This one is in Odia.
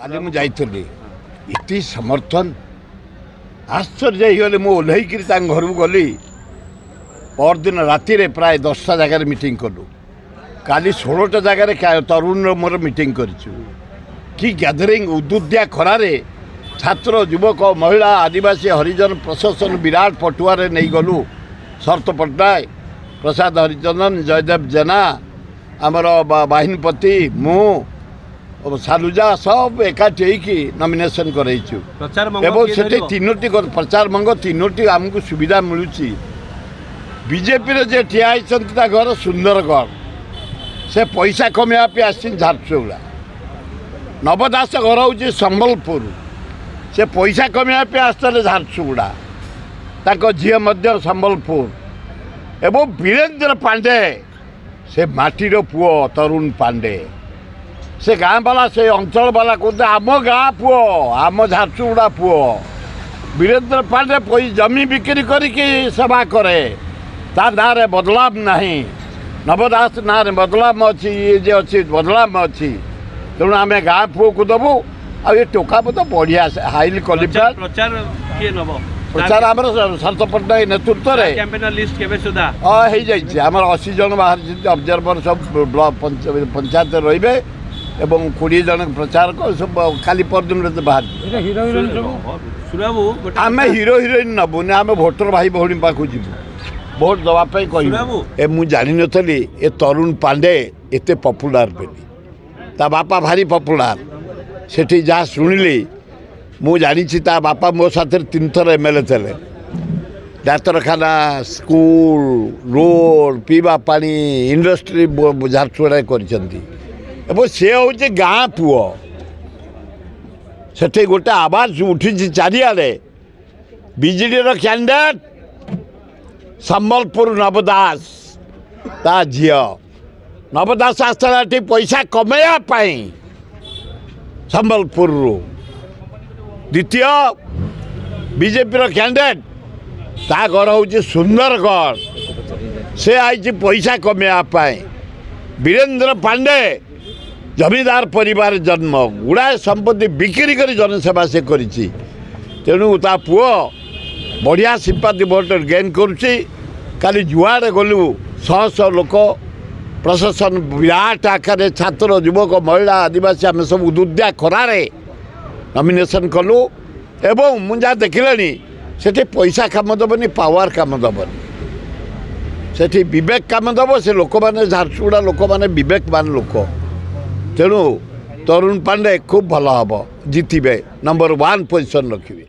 କାଲି ମୁଁ ଯାଇଥିଲି, ଏତେ ସମର୍ଥନ, ଆଶ୍ଚର୍ଯ୍ୟ ହେଇଗଲେ। ମୁଁ ଓହ୍ଲେଇକିରି ତାଙ୍କ ଘରକୁ ଗଲି। ପରଦିନ ରାତିରେ ପ୍ରାୟ 10ଟା ଜାଗାରେ ମିଟିଂ କଲୁ। କାଲି 16ଟା ଜାଗାରେ ତରୁଣର ମୋର ମିଟିଂ କରିଛୁ। କି ଗ୍ୟାଦରିଂ! ଉଦୁଦ୍ୟା ଖରାରେ ଛାତ୍ର, ଯୁବକ, ମହିଳା, ଆଦିବାସୀ, ହରିଜନ ପ୍ରଶାସନ ବିରାଟ ପଟୁଆରେ ନେଇଗଲୁ। ଶରତ ପଟ୍ଟନାୟକ, ପ୍ରସାଦ ହରିଚନ୍ଦନ, ଜୟଦେବ ଜେନା, ଆମର ବାହିନୀପତି, ମୁଁ, ସାଲୁଜା ସବୁ ଏକାଠି ହେଇକି ନମିନେସନ୍ କରେଇଛୁ। ଏବଂ ସେଠି ତିନୋଟି ପ୍ରଚାର ମଙ୍ଗ, ତିନୋଟି ଆମକୁ ସୁବିଧା ମିଳୁଛି। ବିଜେପିର ଯିଏ ଠିଆ ହେଇଛନ୍ତି ତା ଘର ସୁନ୍ଦରଗଡ଼, ସେ ପଇସା କମେଇବା ପାଇଁ ଆସିଛନ୍ତି ଝାରସୁଗୁଡ଼ା। ନବ ଦାସ ଘର ହେଉଛି ସମ୍ବଲପୁର, ସେ ପଇସା କମେଇବା ପାଇଁ ଆସିଥିଲେ ଝାରସୁଗୁଡ଼ା। ତାଙ୍କ ଝିଅ ମଧ୍ୟ ସମ୍ବଲପୁର। ଏବଂ ବୀରେନ୍ଦ୍ର ପାଣ୍ଡେ, ସେ ମାଟିର ପୁଅ ତରୁଣ ପାଣ୍ଡେ, ସେ ଗାଁ ବାଲା, ସେ ଅଞ୍ଚଳ ବାଲା କହୁଥିଲେ ଆମ ଗାଁ ପୁଅ, ଆମ ଝାରସୁଗୁଡ଼ା ପୁଅ। ବୀରେନ୍ଦ୍ର ପାଣ୍ଡେ ଜମି ବିକ୍ରି କରିକି ସେବା କରେ, ତା ନାଁରେ ବଦନାମ ନାହିଁ। ନବ ଦାସ ନାଁରେ ବଦନାମ ଅଛି, ଇଏ ଯେ ଅଛି ବଦନାମ ଅଛି। ତେଣୁ ଆମେ ଗାଁ ପୁଅକୁ ଦେବୁ। ଆଉ ଏ ଟୋକା ତ ବଢ଼ିଆ, ହାଇଲି କ୍ୱାଲିଫାଏଡ୍। ପ୍ରଚାର କିଏ ନେବ? ପ୍ରଚାର ଆମର ଶରତ ପଟ୍ଟନାୟକ ନେତୃତ୍ୱରେ ହଁ ହେଇଯାଇଛି। ଆମର 80 ଜଣ ବାହାରିଛନ୍ତି ଅବଜର୍ଭର, ସବୁ ପଞ୍ଚାୟତରେ ରହିବେ ଏବଂ 20 ଜଣ ପ୍ରଚାରକ ସବୁ କାଲି ପରଦିନ ବାହାରିଯିବ। ଆମେ ହିରୋ ହିରୋଇନ୍ ନେବୁନି, ଆମେ ଭୋଟର ଭାଇ ଭଉଣୀ ପାଖକୁ ଯିବୁ ଭୋଟ ଦେବା ପାଇଁ କହିବୁ। ଏ ମୁଁ ଜାଣିନଥିଲି ଏ ତରୁଣ ପାଣ୍ଡେ ଏତେ ପପୁଲାର ବୋଲି। ତା ବାପା ଭାରି ପପୁଲାର। ସେଠି ଯାହା ଶୁଣିଲି ମୁଁ ଜାଣିଛି, ତା ବାପା ମୋ ସାଥିରେ 3 ଥର ଏମ୍ ଏଲ୍ ଏ ଥିଲେ। ଡାକ୍ତରଖାନା, ସ୍କୁଲ, ରୋଡ଼, ପିଇବା ପାଣି, ଇଣ୍ଡଷ୍ଟ୍ରି ଝାରସୁଗୁଡ଼ାରେ କରିଛନ୍ତି। ଏବଂ ସେ ହେଉଛି ଗାଁ ପୁଅ। ସେଠି ଗୋଟେ ଆବାଜ ଉଠିଛି ଚାରିଆଡ଼େ, ବିଜେଡ଼ିର କ୍ୟାଣ୍ଡିଡେଟ୍ ସମ୍ବଲପୁର ନବ ଦାସ, ତା ଝିଅ। ନବ ଦାସ ଆସିଥିଲା ଏଠି ପଇସା କମେଇବା ପାଇଁ ସମ୍ବଲପୁରରୁ। ଦ୍ୱିତୀୟ ବିଜେପିର କ୍ୟାଣ୍ଡିଡେଟ୍, ତା ଘର ହେଉଛି ସୁନ୍ଦରଗଡ଼, ସେ ଆଇଛି ପଇସା କମେଇବା ପାଇଁ। ବୀରେନ୍ଦ୍ର ପାଣ୍ଡେ ଜମିଦାର ପରିବାର ଜନ୍ମ, ଗୁଡ଼ାଏ ସମ୍ପତ୍ତି ବିକ୍ରି କରି ଜନସେବା ସେ କରିଛି। ତେଣୁ ତା ପୁଅ ବଢ଼ିଆ ସିମ୍ପାଥି ଭୋଟ ଗେନ୍ କରୁଛି। କାଲି ଯୁଆଡ଼େ ଗଲୁ ଶହ ଶହ ଲୋକ, ପ୍ରଶାସନ ବିରାଟ ଆକାରରେ, ଛାତ୍ର, ଯୁବକ, ମହିଳା, ଆଦିବାସୀ, ଆମେ ସବୁ ଉଦୁଦ୍ୟା ଖରାରେ ନମିନେସନ୍ କଲୁ। ଏବଂ ମୁଁ ଯାହା ଦେଖିଲେଣି, ସେଠି ପଇସା କାମ ଦେବନି, ପାୱାର କାମ ଦେବନି, ସେଠି ବିବେକ କାମ ଦେବ। ସେ ଲୋକମାନେ, ଝାରସୁଗୁଡ଼ା ଲୋକମାନେ ବିବେକବାନ ଲୋକ। ତେଣୁ ତରୁଣ ପାଣ୍ଡେ ଖୁବ୍ ଭଲ ହେବ, ଜିତିବେ, ନମ୍ବର 1 ପୋଜିସନ୍ ରଖିବେ।